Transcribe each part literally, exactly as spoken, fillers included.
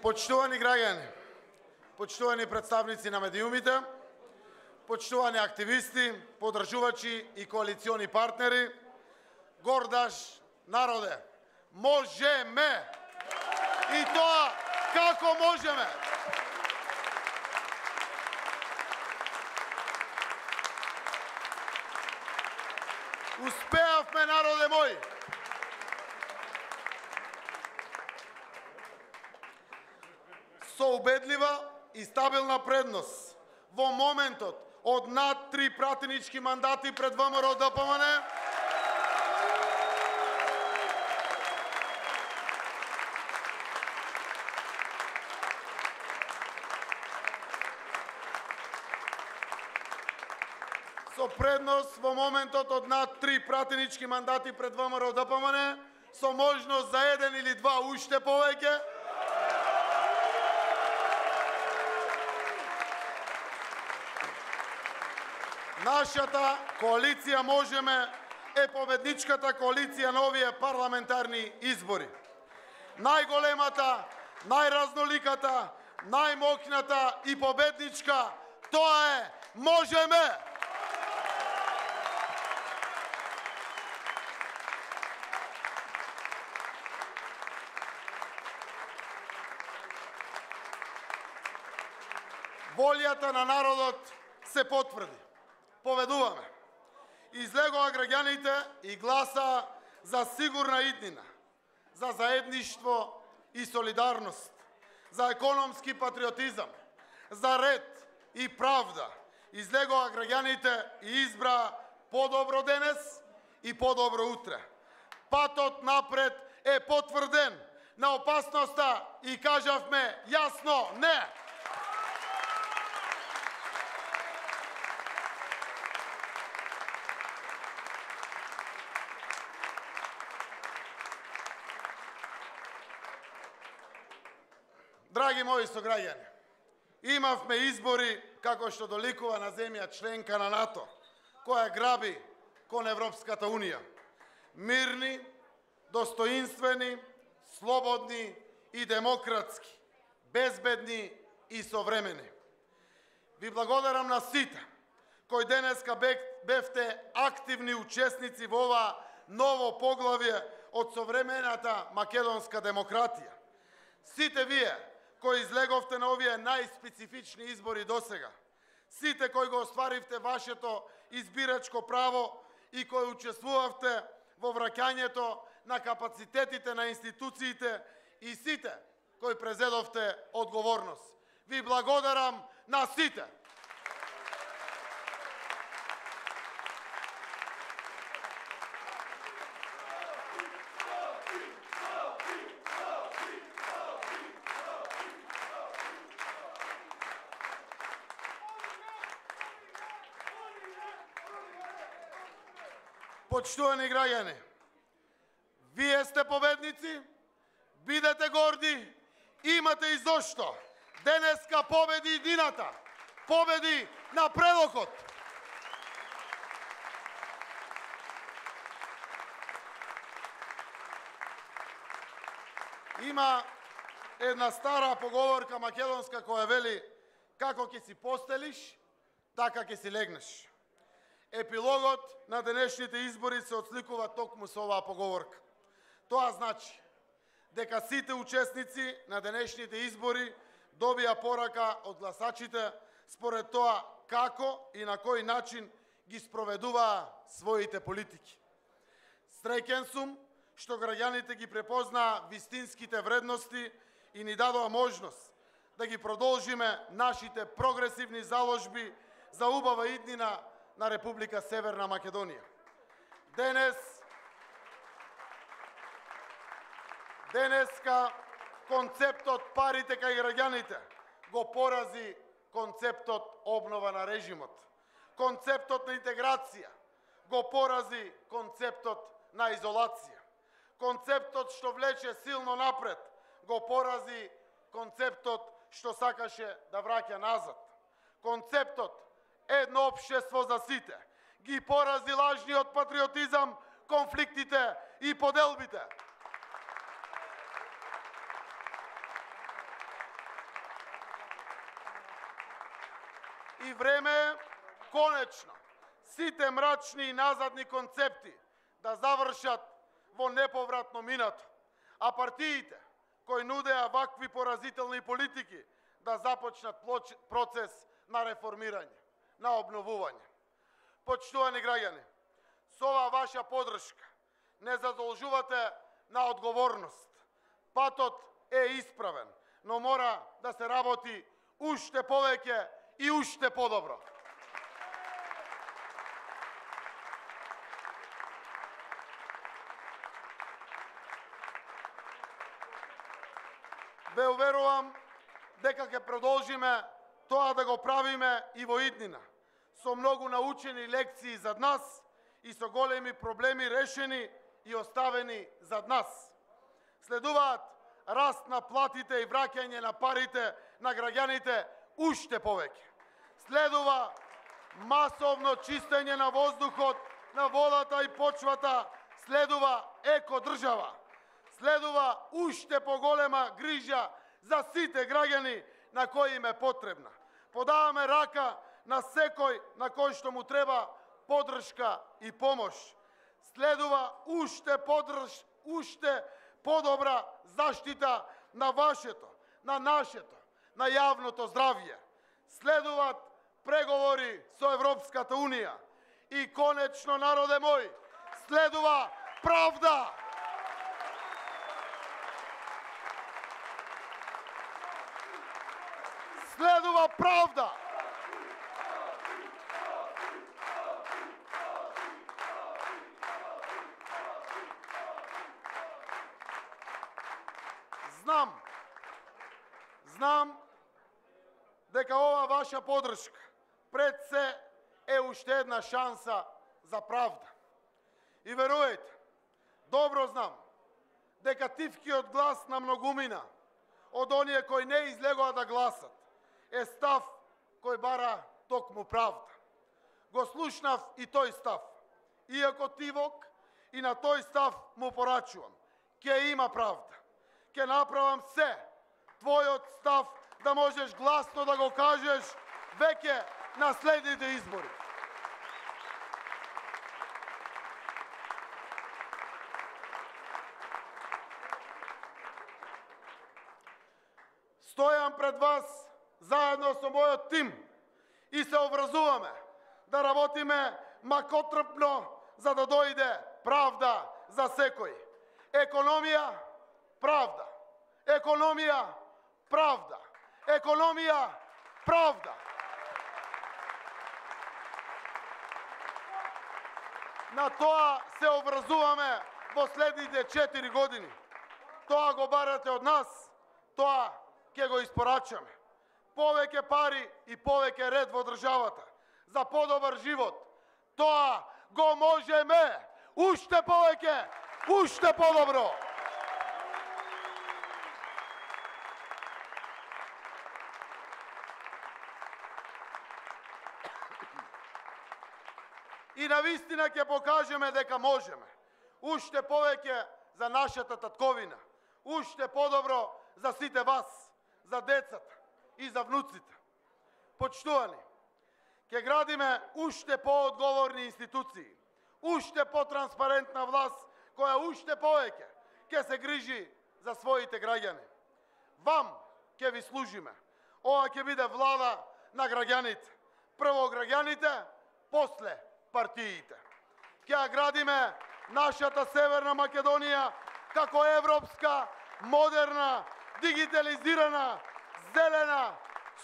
Почитувани граѓани, почитувани представници на медиумите, почитувани активисти, подржувачи и коалициони партнери, гордаш народе, можеме! И тоа како можеме? Успеавме, народе мој! Со убедлива и стабилна предност во моментот од над три пратенички мандати пред ВМРО Д П М Н, со предност во моментот од над три пратенички мандати пред ВМРО Д П М Н, со можност за еден или два уште повеќе, нашата коалиција Можеме е победничката коалиција на овие парламентарни избори. Најголемата, најразноликата, најмокната и победничка, тоа е Можеме! Волјата на народот се потврди. Поведуваме. Излегоа граѓаните и гласа за сигурна иднина, за заедништво и солидарност, за економски патриотизам, за ред и правда. Излегоа граѓаните и избра подобро денес и подобро утре. Патот напред е потврден на опасноста и кажавме јасно не. Драги мои сограѓани, имавме избори како што доликува на земја членка на НАТО, која граби кон Европската Унија. Мирни, достоинствени, слободни и демократски, безбедни и современи. Ви благодарам на сите кои денеска бевте активни учесници во ова ново поглавје од современата македонска демократија. Сите вие кои излеговте на овие најспецифични избори досега, сите кои го остваривте вашето избирачко право и кои учествувавте во враќањето на капацитетите на институциите и сите кои презедовте одговорност. Ви благодарам на сите. Почитувани граѓани, вие сте победници, бидете горди, имате и зошто. Денеска победи иднината, победи напредокот. Има една стара поговорка македонска која вели: како ќе си постелиш, така ќе си легнеш. Епилогот на денешните избори се отсликува токму со оваа поговорка. Тоа значи дека сите учесници на денешните избори добија порака од гласачите според тоа како и на кој начин ги спроведуваа своите политики. Среќен сум што граѓаните ги препознаа вистинските вредности и ни дадоа можност да ги продолжиме нашите прогресивни заложби за убава иднина на Република Северна Македонија. Денес, денеска концептот парите кај граѓаните го порази концептот обнова на режимот. Концептот на интеграција го порази концептот на изолација. Концептот што влече силно напред го порази концептот што сакаше да враќа назад. Концептот едно општество за сите ги порази лажниот патриотизам, конфликтите и поделбите. И време е конечно сите мрачни и назадни концепти да завршат во неповратно минато, а партиите кои нудеа вакви поразителни политики да започнат процес на реформирање, на обновување. Почитувани граѓани, со оваа ваша подршка не задолжувате на одговорност. Патот е исправен, но мора да се работи уште повеќе и уште подобро. Ве уверувам дека ќе продолжиме тоа да го правиме и во иднина, со многу научени лекции зад нас и со големи проблеми решени и оставени зад нас. Следуваат раст на платите и враќање на парите на граѓаните уште повеќе. Следува масовно чистење на воздухот, на водата и почвата, следува екодржава. Следува уште поголема грижа за сите граѓани на кои им е потребна. Подаваме рака на секој на кој што му треба подршка и помош. Следува уште подрж, уште подобра заштита на вашето, на нашето, на јавното здравје. Следуваат преговори со Европската Унија. И конечно, народе мој, следува правда. Следува правда. Знам, знам дека ова ваша подршка пред се е уште една шанса за правда. И верувајте, добро знам дека тивкиот глас на многумина од оние кои не излегоа да гласат е став кој бара токму правда. Го слушнав и тој став. Иако тивок, и на тој став му порачувам. Ке има правда. Ке направам се твојот став да можеш гласно да го кажеш веќе на следните избори. Стојам пред вас заедно со мојот тим и се образуваме да работиме макотрпно за да дојде правда за секој. Економија, правда. Економија, правда. Економија, правда. На тоа се образуваме во следните четири години. Тоа го барате од нас, тоа ќе го испорачаме. Повеќе пари и повеќе ред во државата. За подобар живот. Тоа го можеме. Уште повеќе, уште подобро. И навистина ќе покажеме дека можеме. Уште повеќе за нашата татковина. Уште подобро за сите вас, за децата и за внуците. Почитувани, ќе градиме уште поодговорни институции, уште потранспарентна власт која уште повеќе ќе се грижи за своите граѓани. Вам ќе ви служиме. Ова ќе биде влада на граѓаните. Прво граѓаните, после партиите. Ќе градиме нашата Северна Македонија како европска, модерна, дигитализирана, зелена,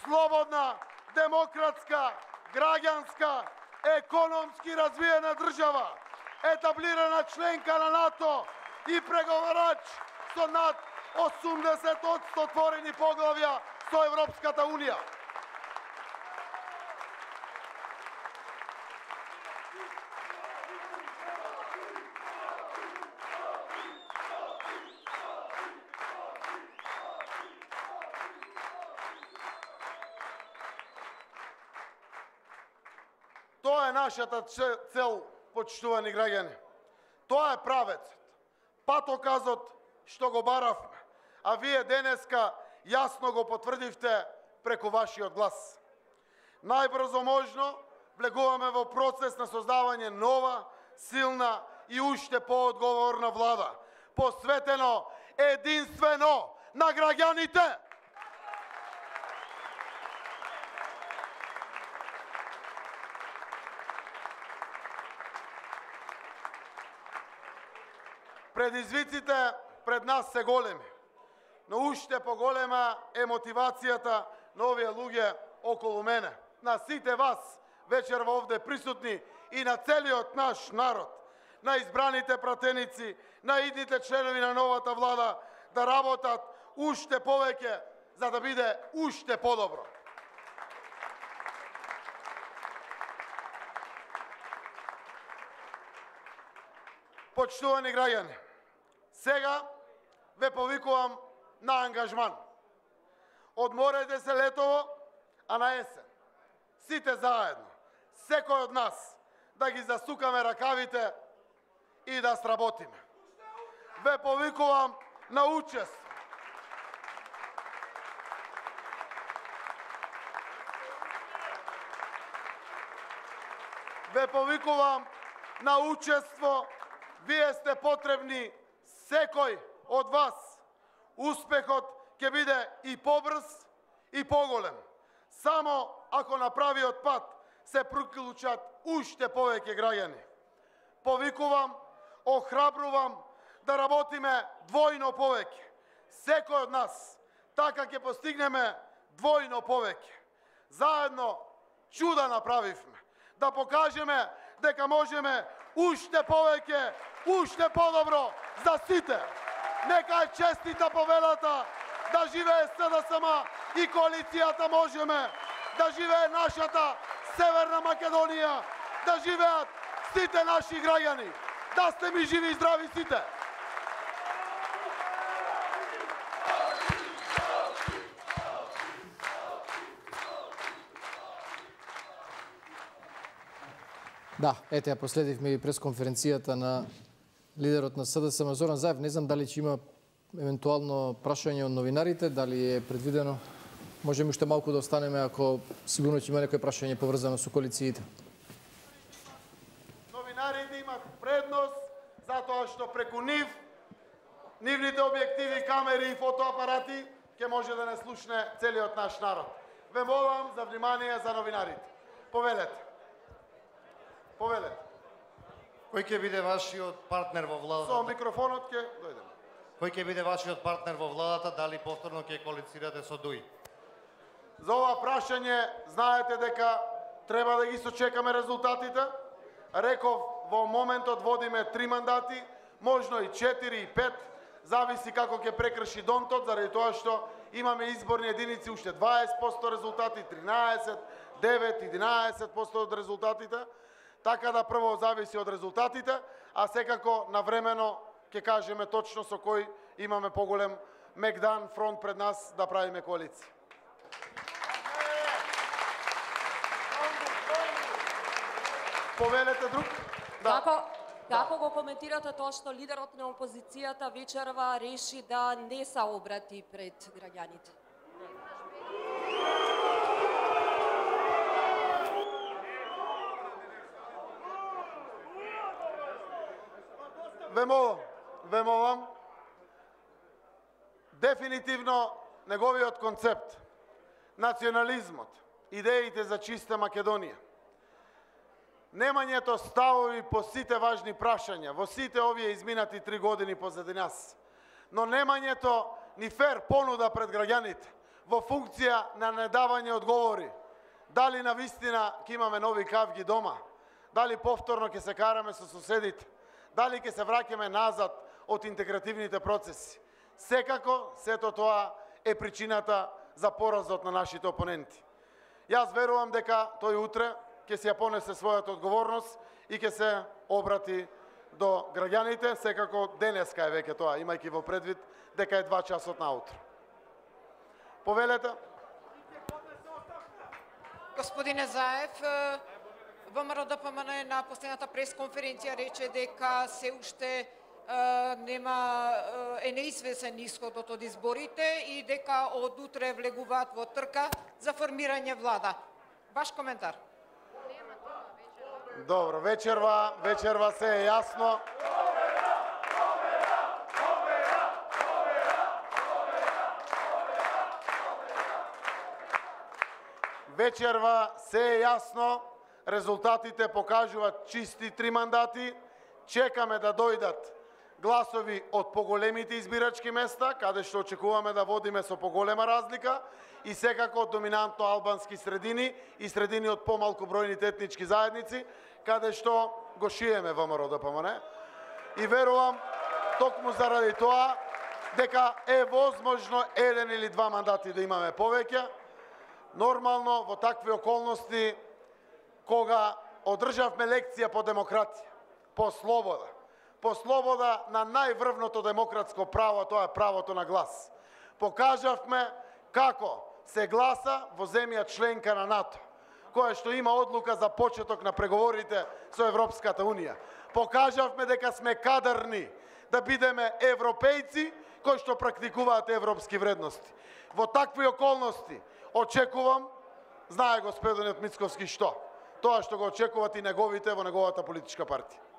слободна, демократска, граѓанска, економски развиена држава, етаблирана членка на НАТО и преговарач со над осумдесет одсто отворени поглавја со Европската Унија. Тоа е нашата цел, почитувани граѓани. Тоа е правецот, патоказот што го баравме, а вие денеска јасно го потврдивте преку вашиот глас. најбрзо можно влегуваме во процес на создавање нова, силна и уште поодговорна влада, посветено единствено на граѓаните. Предизвиците пред нас се големи, но уште поголема е мотивацијата на овие луѓе околу мене, на сите вас вечерва овде присутни и на целиот наш народ, на избраните пратеници, на идните членови на новата влада да работат уште повеќе за да биде уште подобро. Почитувани граѓани, сега ве повикувам на ангажман. Одморете се летово, а на есен, сите заедно, секој од нас, да ги засукаме ракавите и да сработиме. Ве повикувам на учество. Ве повикувам на учество. Вие сте потребни, секој од вас. Успехот ќе биде и побрз и поголем. Само ако на правиот пат се приклучат уште повеќе граѓани. Повикувам, охрабрувам да работиме двојно повеќе. Секој од нас, така ќе постигнеме двојно повеќе. Заедно чуда направивме. Да покажеме дека можеме уште повеќе, уште подобро за сите. Нека е честита победата, да живее С Д С М и коалицијата Можеме, да живее нашата Северна Македонија, да живеат сите наши граѓани, да сте ми живи и здрави сите. Да, ете ја последивме и пресконференцијата на лидерот на С Д С М Зоран Заев. Не знам дали ќе има евентуално прашање од новинарите, дали е предвидено. Можеме уште малку да останеме ако сигурно ќе има некој прашање поврзано со коалициите. Новинарите имат предност затоа што преку нив, нивните објективи, камери и фотоапарати ќе може да не слушне целиот наш народ. Ве молам за внимание за новинарите. Повелете. Повелете. Кој ќе биде вашиот партнер во владата? Со микрофонот ќе дојдем. Кој ќе биде вашиот партнер во владата, дали повторно ќе коалицирате со ДУИ? За ова прашање знаете дека треба да ги сочекаме резултатите. Реков, во моментот водиме три мандати, можно и четири и пет, зависи како ќе прекрши Донтот, заради тоа што имаме изборни единици уште дваесет проценти резултати, тринаесет, девет, единаесет проценти од резултатите. Така да прво зависи од резултатите, а секако навремено ќе кажеме точно со кој имаме поголем мегдан фронт пред нас да правиме коалиција. Повелете друг? Да. Како, како го коментирате тоа што лидерот на опозицијата вечерва реши да не се обрати пред граѓаните? Ве молам, ве молам, дефинитивно неговиот концепт, национализмот, идеите за чиста Македонија, немањето ставови по сите важни прашања, во сите овие изминати три години позади нас, но немањето ни фер понуда пред граѓаните, во функција на недавање одговори, дали на вистина ќе имаме нови кавги дома, дали повторно ќе се караме со соседите, дали ќе се враќаме назад од интегративните процеси. Секако, сето тоа е причината за поразот на нашите опоненти. Јас верувам дека тој утре ќе се ја понесе својата одговорност и ќе се обрати до граѓаните, секако денеска е веќе тоа, имајќи во предвид дека е два часот наутро. Повелете. Господине Заев, ВМРО Д П М Н на последната пресконференција рече дека се уште нема е неизвестен исходот од изборите и дека од утре влегуваат во трка за формирање влада. Ваш коментар. Добро, вечерва, вечерва се е јасно. Вечерва се е јасно, резултатите покажуваат чисти три мандати. Чекаме да дојдат гласови од поголемите избирачки места, каде што очекуваме да водиме со поголема разлика, и секако од доминантно албански средини и средини од помалку бројните етнички заедници, каде што го шиеме ВМРО ДПМН. И верувам, токму заради тоа, дека е возможно еден или два мандати да имаме повеќе. Нормално, во такви околности, кога одржавме лекција по демократија, по слобода, по слобода на најврвното демократско право, тоа е правото на глас. Покажавме како се гласа во земја членка на НАТО, која што има одлука за почеток на преговорите со Европската Унија. Покажавме дека сме кадарни да бидеме европејци кои што практикуваат европски вредности. Во такви околности очекувам, знае господинот Мицковски што, тоа што го очекуваат и неговите во неговата политичка партија.